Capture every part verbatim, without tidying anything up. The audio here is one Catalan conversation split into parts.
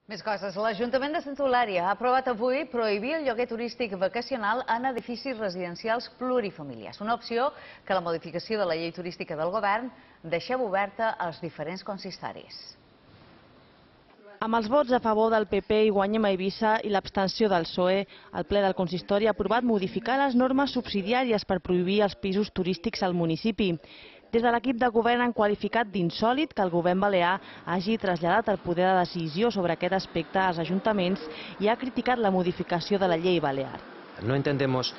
Més coses. L'Ajuntament de Santa Eulària ha aprovat avui prohibir el lloguer turístic vacacional en edificis residencials plurifamiliars. Una opció que la modificació de la llei turística del govern deixava oberta als diferents consistoris. Amb els vots a favor del P P i Guanyem a Eivissa i l'abstenció del P S O E, el ple del consistori ha aprovat modificar les normes subsidiàries per prohibir els pisos turístics al municipi. Des de l'equip de govern han qualificat d'insòlit que el govern balear hagi traslladat el poder de decisió sobre aquest aspecte als ajuntaments i ha criticat la modificació de la llei balear. No entendemos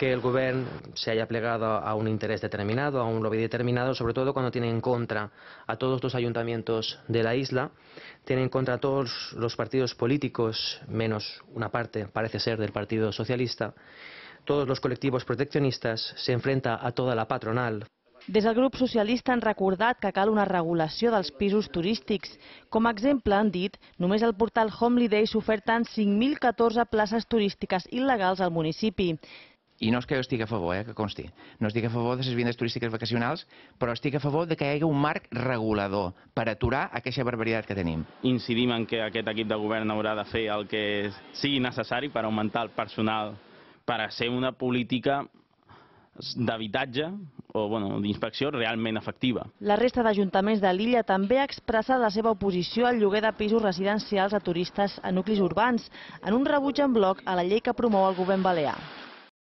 que el gobierno se haya plegado a un interés determinado, a un lobby determinado, sobre todo cuando tiene en contra a todos los ayuntamientos de la isla, tiene en contra a todos los partidos políticos, menos una parte, parece ser, del Partido Socialista, todos los colectivos proteccionistas, se enfrenta a toda la patronal. Des del grup socialista han recordat que cal una regulació dels pisos turístics. Com a exemple han dit, només al portal Holiday s'oferten cinc mil catorze places turístiques il·legals al municipi. I no és que jo estigui a favor, eh, que consti. No estic a favor de les vivendes turístiques vacacionals, però estic a favor de que hi hagi un marc regulador per aturar aquesta barbaritat que tenim. Incidim en que aquest equip de govern haurà de fer el que sigui necessari per augmentar el personal, per a ser una política d'habitatge o bueno, d'inspecció realment efectiva. La resta d'ajuntaments de l'illa també ha expressat la seva oposició al lloguer de pisos residencials a turistes a nuclis urbans, en un rebuig en bloc a la llei que promou el govern balear.